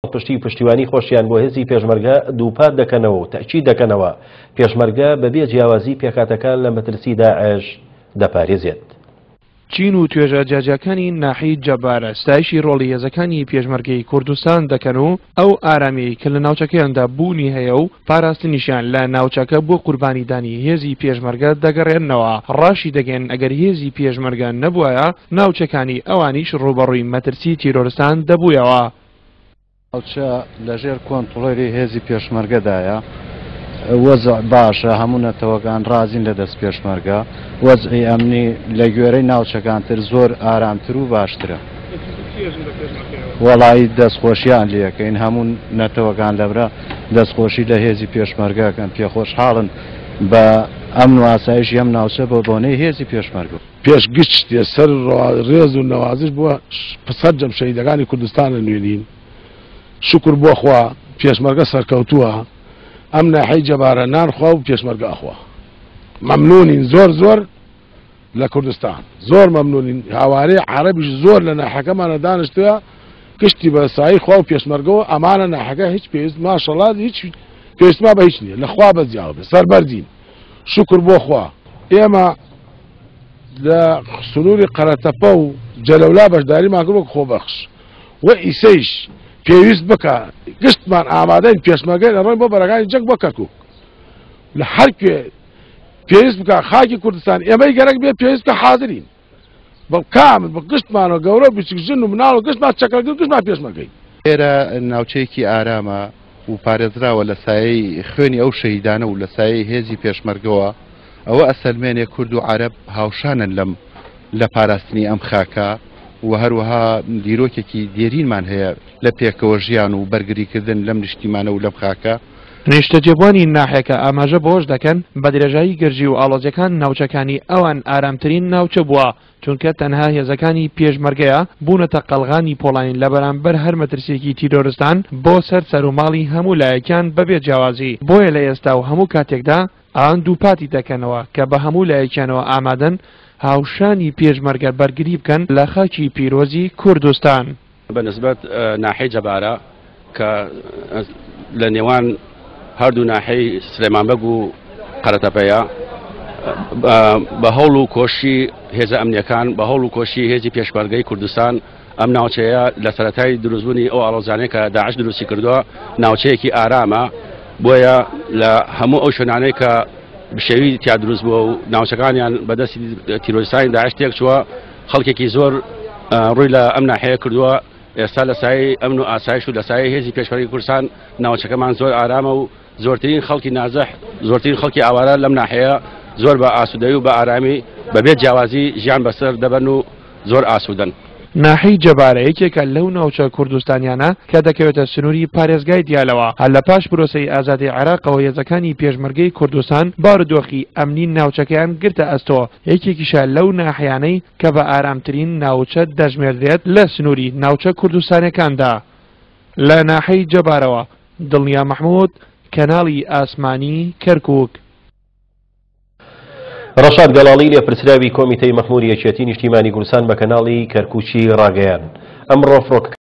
پاڵپشتی و پشتیوانی خۆشیان بۆ هێزی پێشمەرگە دووپات دەکەنەوە و تەئکید دەکەنەوە، پێشمەرگە بەبێ جیاوازی پێکهاتەکان لە مەترسی داعش دەپارێزێت. چین و توێژە جیاجیاکانی ناحیەی جەبارە ستایشی ڕۆڵی هێزەکانی پێشمەرگەی کوردستان دەکەن و ئەو ئارامیەی کە لە ناوچەکەیاندا بوونی هەیە و پاراستنیشیان لە ناوچەکە بۆ قوربانیدانی هێزی پێشمەرگە دەگەڕێننەوە، ڕاشیدەگەیەنن ئەگەر هێزی پێشمەرگە نەبوایە ناوچەکانی ئەوانیش ڕووبەڕووی مەترسی تیرۆرستان دەبوویەوە. ناوچە لەژێر کۆنتڕۆلی هێزی پێشمەرگەدایە، وەزع باشە، هەموو نەتەوەکان ڕازین لە دەست پێشمەرگە، وەزعی ئەمنی لە گوێرەی ناوچەکانتر زۆر ئارامتر و باشترە. وەڵایی دەستخۆشیان لێکەین، هەموو نەتەوەکان لەبرا دەستخۆشی لە هێزی پێشمەرگە ئەکەن، پێخۆشحاڵن بە ئەمن و ئاسایشی ئەم ناوچە بە بۆنەی هێزی پێشمەرگە. پێش گشت شتێ سەر ڕێز و نەوازش بۆ سەرجەم شەهیدەکانی کوردستان ئەنوێنین. شوکر بۆ خوا پێشمەرگە سەرکەوتووە. ئەم ناحیەی جەبارە نان خوا و پێشمەرگە ئەخوا. مەمنونین زۆر زۆر لە کوردستان. زۆر مەمنونین. هاوارەی عەرەبیش زۆر لە ناحیەکەمانە دانیشتووە. گشتی بە سایەی خوا و پێشمەرگەوە ئەمانە ناحیەکە هیچ پێویست ماشەڵا هیچ پێویستمان بە هیچ نییە. لە خوا بەزیاوە بێ. سەربەرزین. شوکر بۆ خوا. ئێمە لە سنووری قەرەتەپە و جەلەولا بەشداریمان کرد وەک خۆبەخش و ئیسەیش پێویست بکە گشتمان ئامادەین پێشمەرگەین ئەڕۆین بۆ بەرەکانی جەنگ بۆ کەرکوک لە هەر کوێ پێویست بکە خاکی کوردستان ئێمەی گەرەک بێ پێویست بکە حاضرین بە کامل بە گشتمانەوە گەورە و بچوک ژن و مناڵ و گشتمان چەکەڵگر گشتمان پێشمەرگەین. ئێرە ناوچەیەکی ئارامە و پارێزراوە لە سایەی خوێنی ئەو شەهیدانە و لە سایەی هێزی پێشمەرگەوە، ئەوە ئەسەلمێنێ کورد و عەرەب هاوشانن لەم لە پاراستنی ئەم خاکە و هەروەها دیرۆکێکی دێرینمان هەیە لە پێکەوە ژیان و بەرگریکردن لەم نیشتیمانە و لەم خاکە. نیشتەجێبووانی ناحیەکە ئاماژە بەوەش دەکەن، بەدرێژایی گرژی و ئاڵۆزیەکان ناوچەکانی ئەوان ئارامترین ناوچە بووە، چونکە تەنها هێزەکانی پێشمەرگەیە بوونەتە قەڵغانی پۆڵاین لەبەرامبەر هەر مەترسیەکی تیرۆرستان بۆ سەر سەروماڵی هەموو لایەکیان بەبێ جیاوازی، بۆیە لە ئێستا و هەموو کاتێکدا ئەوان دووپاتی دەکەنەوە کە بە هەموو لایەکیانەوە ئامادەن هاوشانی پێشمەرگە بەرگری بکەن لە خاکی پیرۆزی کوردستان. بە نسبەت ناحیەی جەبارە کە لە نێوان هەردوو ناحیەی سلێمان بەگ و قەرەتەپەیە بە هەوڵ و کۆشی هێزە ئەمنیەکان بە هەوڵ و کۆشی هێزی پێشمەرگەی کوردستان ئەم ناوچەیە لە سەرەتای دروستبوونی ئەو ئاڵۆزانەی کە داعش دروستی کردووە ناوچەیەکی ئارامە بۆیە لە هەموو ئەو شوێنانەی کە بشێوی تیا دروست بووە و ناوچەکانیان بەدەستی تیرۆریستانی داعش تێک چووە خەڵکێکی زۆر ڕووی لە ئەم ناحەیە کردووە ئێستا لە سایەی ئەمن و ئاسایش و لە سایەی هێزی پێشمەرگەی کوردستان ناوچەکەمان زۆر ئارامە و زۆرترین خەڵکی نازح زۆرترین خەڵکی ئاوارە لەم ناحەیە زۆر بە ئاسوودەی و بە ئارامی بەبێ جیاوازی ژیان بەسەر دەبەن و زۆر ئاسوودەن. ناحیەی جەبارە یەکێکە لەو ناوچە کوردستانیانە کە دەکەوێتە سنووری پارێزگای دیالەوە، هەر لە پاش پرۆسەی ئازادی عێراقەوە هێزەکانی پێشمەرگەی کوردستان بارودۆخی ئەمنی ناوچەکەیان گرتە ئەستۆ، یەکێکیشە لەو ناحیانەی کە بە ئارامترین ناوچە دەژمێردرێت لە سنووری ناوچە کوردستانیەکاندا. لە ناحیەی جەبارەوە، دڵنیا مەحمود، کەناڵی ئاسمانی کەرکوک. ڕەشاد گەڵاڵی لێپرسراوی کۆمیتەی مەخموری یەکێتی نیشتیمانی کوردستان بە کەناڵی کەرکوکی ڕاگەیاند، ئەمڕۆ فڕۆکەکانی.